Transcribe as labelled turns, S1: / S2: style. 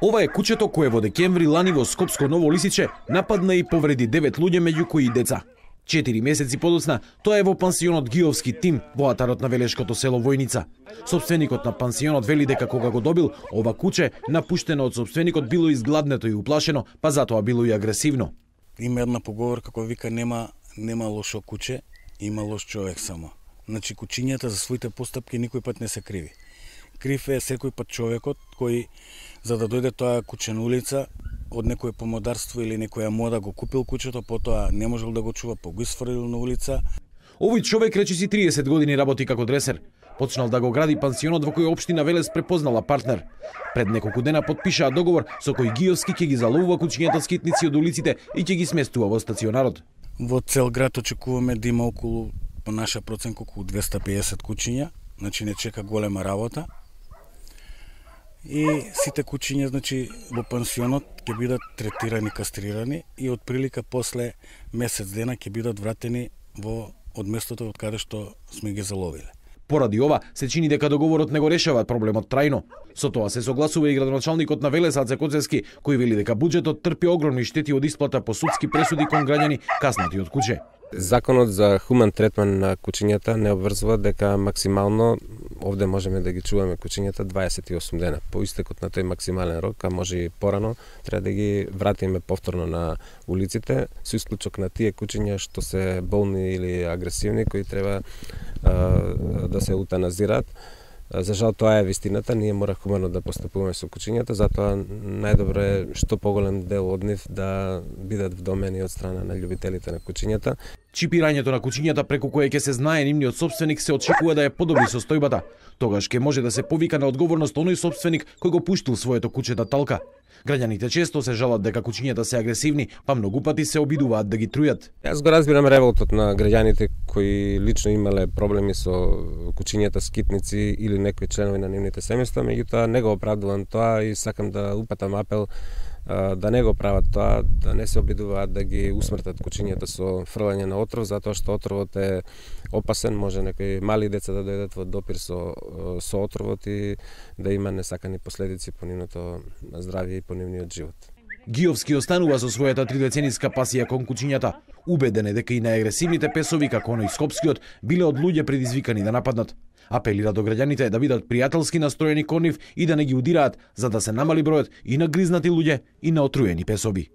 S1: Ова е кучето кое во декември лани во Скопско Ново Лисиче нападна и повреди 9 луѓе, меѓу кои и деца. 4 месеци подоцна тоа е во пансионот Гиовски Тим во атарот на велешкото село Војница. Собственикот на пансионот вели дека кога го добил ова куче, напуштено од собственикот, било изгладнето и уплашено, па затоа било и агресивно.
S2: Има една поговорка која вика нема лошо куче, има лош човек само. Значи кучињата за своите постапки никој пат не се криви. Крив е секој пат човекот кој за да дојде тоа куче на улица од некое помодарство или некоја мода го купил кучето, потоа не можел да го чува, па го исфрлил на улица.
S1: Овој човек речиси 30 години работи како дресер. Почнал да го гради пансионот во кој општина Велес препознала партнер. Пред неколку дена подпишаа договор со кој Гиовски ќе ги заловува кучињата скитници од улиците и ќе ги сместува во стационарот.
S2: Во цел град очекуваме да има околу, по наша проценка, околу 250 кучиња, значи не чека голема работа. И сите кучиња, значи, во пансионот ќе бидат третирани, кастрирани и од прилика после месец дена ќе бидат вратени од местото од каде што сме ги заловиле.
S1: Поради ова, се чини дека договорот не го решава проблемот трајно. Со тоа се согласува и градоначалникот на Велес Аце Коцевски, кој вели дека буџетот трпи огромни штети од исплата по судски пресуди кон граѓани каснати од куче.
S3: Законот за хуман третман на кучињата не обврзува дека максимално овде можеме да ги чуваме кучињата 28 дена. По истекот на тој максимален рок, а може и порано, треба да ги вратиме повторно на улиците, со исклучок на тие кучиња што се болни или агресивни, кои треба да се утаназираат. За жал тоа е вистината, ние мора хумано да постапуваме со кучињата, затоа најдобро е што поголем дел од нив да бидат вдомени од страна на љубителите на кучињата.
S1: Чипирањето на кучињата преку кое ќе се знае нивниот собственик се очекува да ја подобри состојбата. Тогаш ќе може да се повика на одговорност оној собственик кој го пуштил своето куче да талка. Граѓаните често се жалат дека кучињата се агресивни, па многу пати се обидуваат да ги трујат.
S3: Јас го разбирам револтот на граѓаните кои лично имале проблеми со кучињата скитници или некои членови на нивните семејства, меѓутоа не го оправдувам тоа и сакам да упатам апел да не го прават тоа, да не се обидуваат да ги усмртат кучињата со фрлање на отров, затоа што отровот е опасен, може некои мали деца да дојдат во допир со отровот и да има несакани последици по нивното здравје и по нивниот живот.
S1: Гиовски останува со својата 3-децениска пасија кон кучињата. Убеден е дека и најагресивните песови, како оној скопскиот, биле од луѓе предизвикани да нападнат. Апелира до граѓаните да бидат пријателски настроени кон нив и да не ги удираат, за да се намали бројот и на гризнати луѓе и на отруени песови.